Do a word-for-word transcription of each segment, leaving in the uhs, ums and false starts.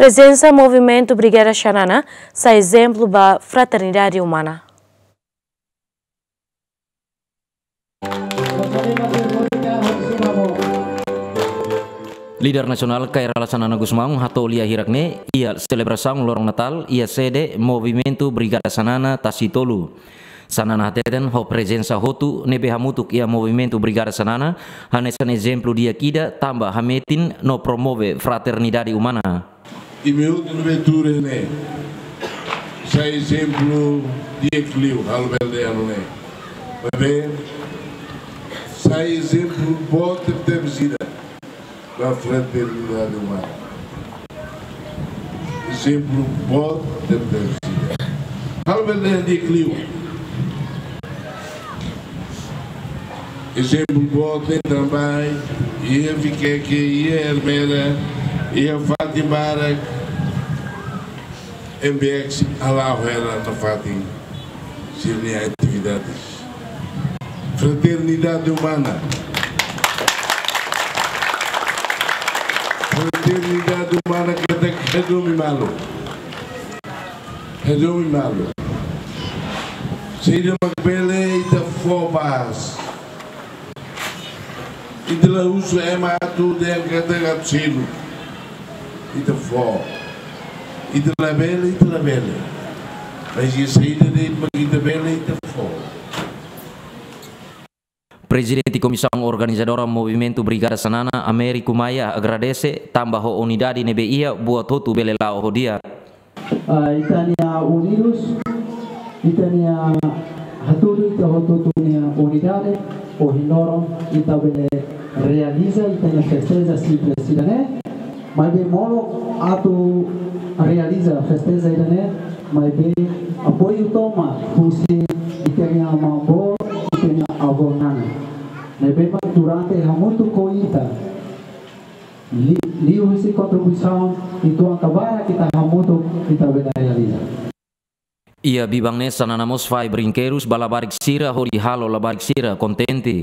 Prezensa Movimentu Brigada Xanana sai ezemplu ba fraternidade umana. Líder nasionál Kay Rala Xanana Gusmão hato'o lia hirak-ne'e iha selebrasaun loron Natál iha sede Movimentu Brigada Xanana Tasi Tolu. Xanana hateten ho prezensa hotu ne'ebé hamutuk iha Movimentu Brigada Xanana hanesan ezemplu di'ak ida tanba hametin no promove fraternidade umana. Imi hotu ne'ebé tuur iha ne'e sai ezemplu di'ak liu, halo bele dehan ne'e. Maibé sai ezemplu boot tebes ida ba fraternidade umana. Ezemplu boot tebes ida. Halo bele dehan di'ak liu. Ezemplu boot ne'e tanba iha Viqueque, iha Ermera, iha fatin barak, M B X hala'o hela nafatin sira-nia atividades. Fraternidade umana. Fraternidade umana katak hadomi malu. Hadomi malu. Saida mak bele ita fó bá. Ita la husu ema atu dehan katak atu seluk. Ita fó. Ita labele, ita labele. Mas iha saida de'it mak ita bele, ita fó. Prezidente Komisaun Organizadora Movimentu Brigada Xanana, Américo Maia, agradese tanba ho unidade ne'ebé iha buat hotu bele la'o ho di'ak. Ah, ita-nia unidade, ita-nia hatudu ita hotu-hotu nia unidade, ohin loron ita bele realiza ita-nia festeja simples ida-ne'e, maibé molok atu realiza festeja ida-ne'e, maibé apoiu tomak husi ita-nia maun-boot, ita-nia avó-nana. Ne'ebé mak durante hamutuk ho ita, li-, liuhusi kontribuisaun ituan ka barak ita hamutuk ita bele realiza. Iha biban ne'e Xanana mós fahe brinkedus ba labarik sira hodi halo labarik sira kontente.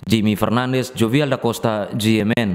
Jimmy Fernandes, Jovial da Costa, G M N.